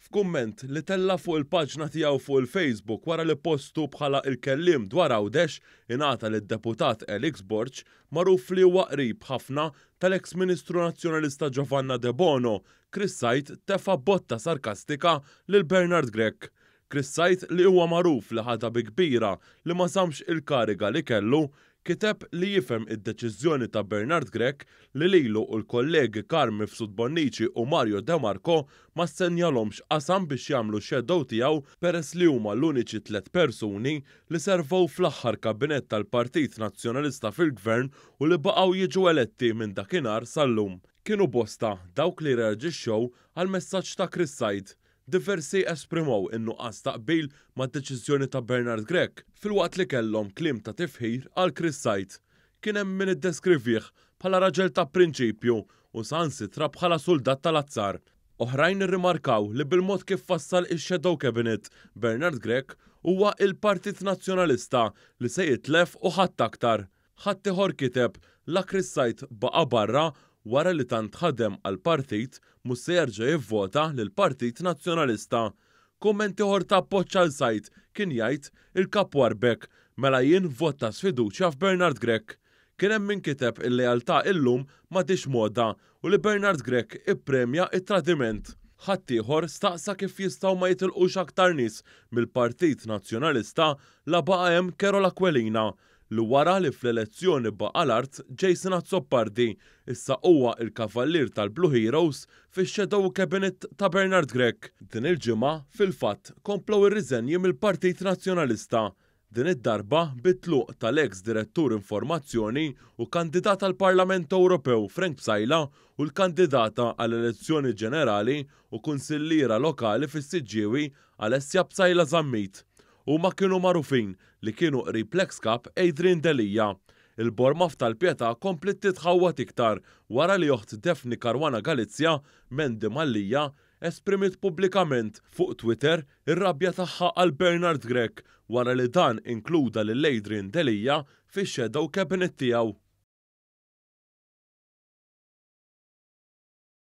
F'kumment li tella' fuq il-paġna tiegħu fuq il-Facebook wara li postu bħala il-kelliem dwar Għawdex ingħata lid-Deputat Alex Borg, magħruf li huwa qrib ħafna tal-eks Ministru Nazzjonalista Giovanna Debono, Chris Said tefa' botta sarkastika lil Bernard Grech. Chris Said li huwa magħruf li ħadha bi kbira li ma żammx il-kariga li kellu, kiteb li jifhem id-deċiżjoni ta' Bernard Grech li lilu u l-kollegi Carm Mifsud Bonnici u Mario De Marco ma ssenjalhomx qasam biex jagħmlu shadow tiegħu peress li huma l-uniċi tlett persuni li servew fl-aħħar kabinett tal-Partit Nazzjonalista fil-Gvern u li baqgħu jiġu eletti minn dakinhar sal-lum. Kienu bosta dawk li rreaġixxew għall-messaġġ ta' Chris Said. Diversi esprimew in-nuqqas ta' qbil mad-deċiżjoni ta' Bernard Grech filwaqt li kellhom kliem ta' tifħir għal Chris Said. Kien hemm min iddeskrivih bħala raġel ta' prinċipju u saħansitra bħala suldat tal-azzar. Oħrajn irrimarkaw li bil-mod kif fassal ix-shadow cabinet, Bernard Grech huwa il-Partit Nazzjonalista li se jitlef u ħadd aktar. Ħaddieħor kiteb, La Chris Said baqa' barra wara li tant ħadem għall-partit mhux se jerġa' jivvota lill-Partit Nazzjonalista. Kumment ieħor ta' appoġġ għal Said kien jgħid, Il-Kap warrbek, mela jien vot ta' sfiduċja f'Bernard Grech. Kien hemm min kiteb il-lealtà illum m'għadhiex moda u li Bernard Grech ippremja t-tradiment. Ħaddieħor staqsa kif jistgħu ma jitilqux aktar nies mill-Partit Nazzjonalista la baqa' hemm Carol Aquilina li wara li fl-elezzjoni baqa' l-art Jason Azzopardi issa huwa l-kavallier tal-Blue Heroes fix-shadow cabinet ta' Bernard Grech. Din il-ġimgħa, fil-fatt, komplew ir-riżenji mill-Partit Nazzjonalista, din id-darba bit-tluq tal-eks Direttur Informazzjoni u kandidat għall-Parlament Ewropew Frank Psaila u l-kandidata għall-elezzjoni ġenerali u kunsilliera lokali fis-Siġġiewi Alessia Psaila Zammit. Huma kienu magħrufin li kienu qrib l-eks Kap Adrian Delia. Il-borma f'Tal-Pietà kompliet titħawwad iktar wara li oħt Daphne Caruana Galizia, Mandy Mallia, esprimiet pubblikament fuq Twitter ir-rabja tagħha għal Bernard Grech wara li dan inkluda lil Adrian Delia fix-shadow cabinet tiegħu.